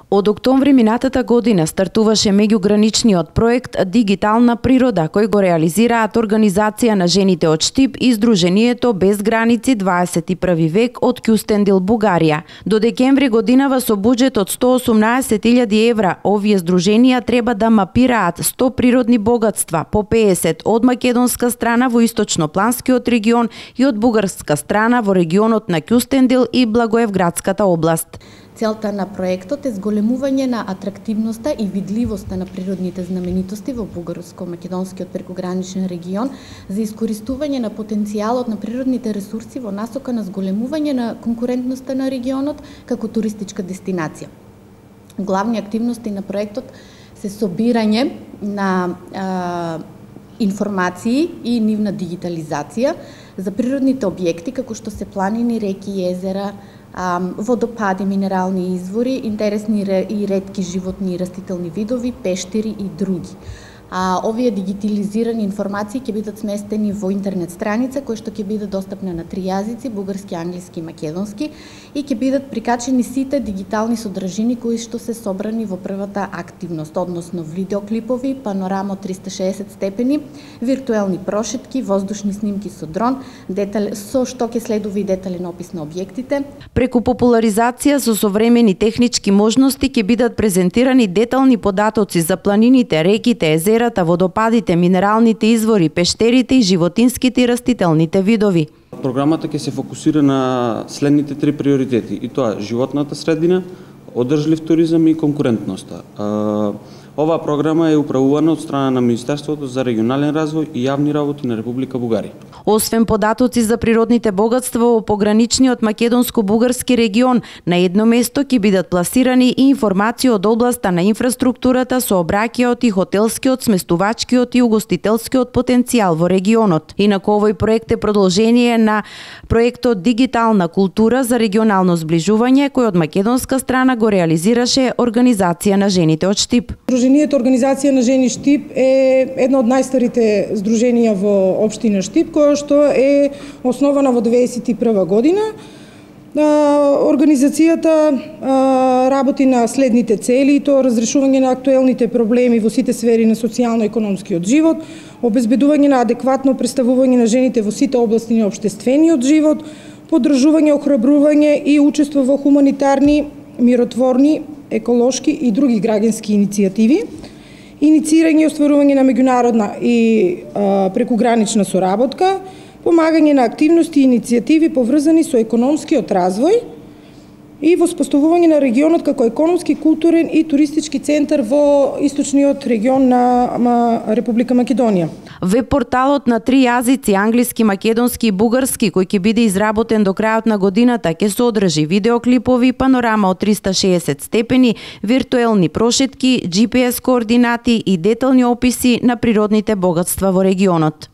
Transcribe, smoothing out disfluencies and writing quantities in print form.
Од октомври минатата година стартуваше меѓуграничниот проект Дигитална природа, кој го реализираат Организација на жените од Штип и Сдруженијето Без граници 21 век од Кјустендил, Бугарија. До декември годинава со буџет од 118.000 евра, овие здруженија треба да мапираат 100 природни богатства, по 50 од македонска страна во источнопланскиот регион и од бугарска страна во регионот на Кјустендил и Благоевградската област. Целта на проектот е зголемување на атрактивноста и видливоста на природните знаменитости во бугарско-македонскиот прекограничен регион за искористување на потенцијалот на природните ресурси во насока на зголемување на конкурентноста на регионот како туристичка дестинација. Главни активности на проектот се собирање на информации и нивна дигитализација за природните објекти како што се планини, реки, езера, водопади, минерални извори, интересни и ретки животни и растителни видови, пештери и други. Овие дигитализирани информации ќе бидат сместени во интернет страница која што ќе биде достапна на 3 јазици, бугарски, англиски и македонски, и ќе бидат прикачени сите дигитални содржини кои што се собрани во првата активност, односно видеоклипови, панорама од 360 степени, виртуелни прошетки, воздушни снимки со дрон, со што ќе следува и детален опис на објектите. Преку популаризација со современи технички можности ќе бидат презентирани детални податоци за планините, реките, езерата, водопадите, минералните извори, пештерите и животинските и растителните видови. Програмата ќе се фокусира на следните 3 приоритети, и тоа животната средина, одржлив туризам и конкурентноста. Оваа програма е управувана од страна на Министерството за регионален развој и јавни работи на Република Бугарија. Освен податоци за природните богатства во пограничниот македонско-бугарски регион, на едно место ќе бидат пласирани и информации од областа на инфраструктурата, сообраќајот и хотелскиот, сместувачкиот и угостителскиот потенцијал во регионот. Инаку овој проект е продолжение на проектот Дигитална култура за регионално зближување, кој од македонска страна го реализираше Организација на жените од Штип. Сдруженијето Организација на жени Штип е едно од најстарите здруженија во општина Штип, која што е основана во 1991 година. Организацијата работи на следните цели, тоа разрешување на актуелните проблеми во сите сфери на социјално-економскиот живот, обезбедување на адекватно представување на жените во сите области на општествениот живот, поддржување, охрабрување и учество во хуманитарни, миротворни, еколошки и други граѓански иницијативи, иницирање и остварување на меѓународна и прекугранична соработка, помагање на активности и иницијативи поврзани со економскиот развој и воспоставување на регионот како економски, културен и туристички центар во источниот регион на Република Македонија. Веб-порталот на 3 јазици, англиски, македонски и бугарски, кој ќе биде изработен до крајот на годината, ќе содржи видеоклипови, панорама од 360 степени, виртуелни прошетки, GPS координати и детални описи на природните богатства во регионот.